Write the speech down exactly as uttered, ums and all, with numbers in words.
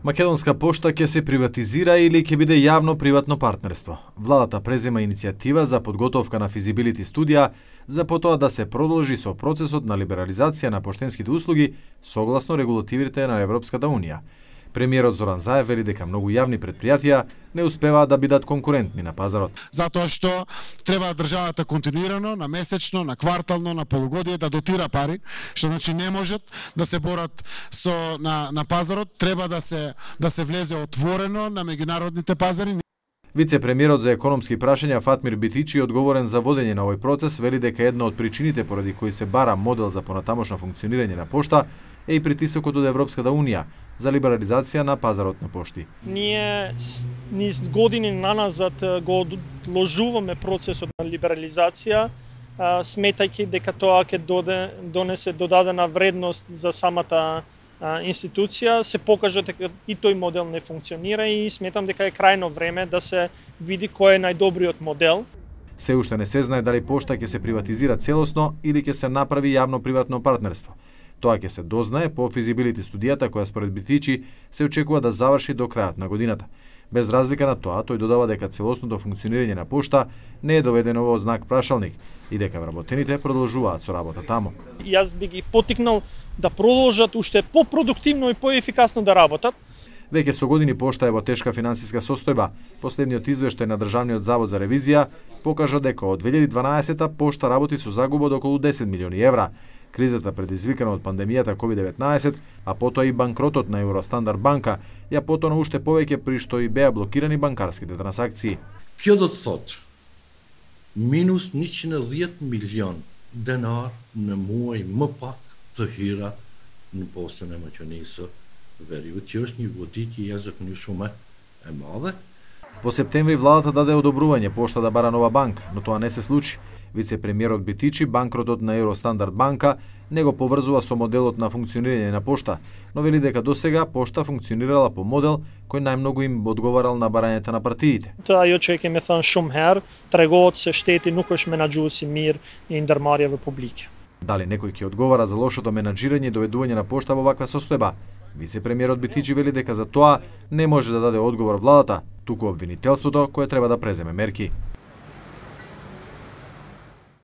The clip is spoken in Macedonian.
Македонска пошта ќе се приватизира или ќе биде јавно-приватно партнерство. Владата презема иницијатива за подготовка на физибилити студија за потоа да се продолжи со процесот на либерализација на поштенските услуги согласно регулативите на Европската унија. Премиерот Зоран Заев вели дека многу јавни претпријатија не успеваат да бидат конкурентни на пазарот. Затоа што треба државата континуирано, на месечно, на квартално, на полугодие да дотира пари, што значи не можат да се борат со на на пазарот, треба да се да се влезе отворено на меѓународните пазари. Вице-премиерот за економски прашања Фатмир Битичи, одговорен за водење на овој процес, вели дека една од причините поради кои се бара модел за понатамошно функционирање на пошта е и притисокот од Европската унија за либерализација на пазарот на пошти. Ние низ години наназад го одложуваме процесот на либерализација, сметајќи дека тоа ќе донесе додадена вредност за самата институција. Се покажа дека и тој модел не функционира и сметам дека е крајно време да се види кој е најдобриот модел. Се уште не се знае дали пошта ќе се приватизира целосно или ќе се направи јавно-приватно партнерство. Тоа ќе се дознае по физибилити студијата која според Битичи се очекува да заврши до крајот на годината. Без разлика на тоа, тој додава дека целосното функционирање на пошта не е доведено во знак прашалник и дека вработените продолжуваат со работа таму. Јас би ги поттикнал да продолжат уште попродуктивно и поефикасно да работат. Веќе со години пошта е во тешка финансиска состојба. Последниот извештај на Државниот завод за ревизија покажа дека од две илјади и дванаесета пошта работи со загуба од околу десет милиони евра. Кризата предизвикана од пандемијата ковид деветнаесет, а потоа и банкротот на Евростандард банка, ја потона уште повеќе при што и беа блокирани банкарските трансакции. Kjo do të thotë minus njëqind e dhjetë milion denar në muaj më pak të hira në postën e Maqedonisë së Veriut, që është një goditje jashtëzakonisht shumë e madhe. Во септември владата даде одобрување пошта да бара нова банка, но тоа не се случи. Вице-премиерот Битичи банкротот на Евростандард банка не го поврзува со моделот на функционирање на пошта, но вели дека досега пошта функционирала по модел кој најмногу им одговарал на барањата на партиите. Ajo që e kemi thënë shumë herë, tregohet se shteti nuk është menaxhues i mirë i ndërmarrjeve publike. Дали некој ќе одговара за лошото менаџирање и доведување на пошта во ваква состојба? Вице-премиерот Битичи вели дека за тоа не може да даде одговор владата, туку обвинителството кое треба да преземе мерки.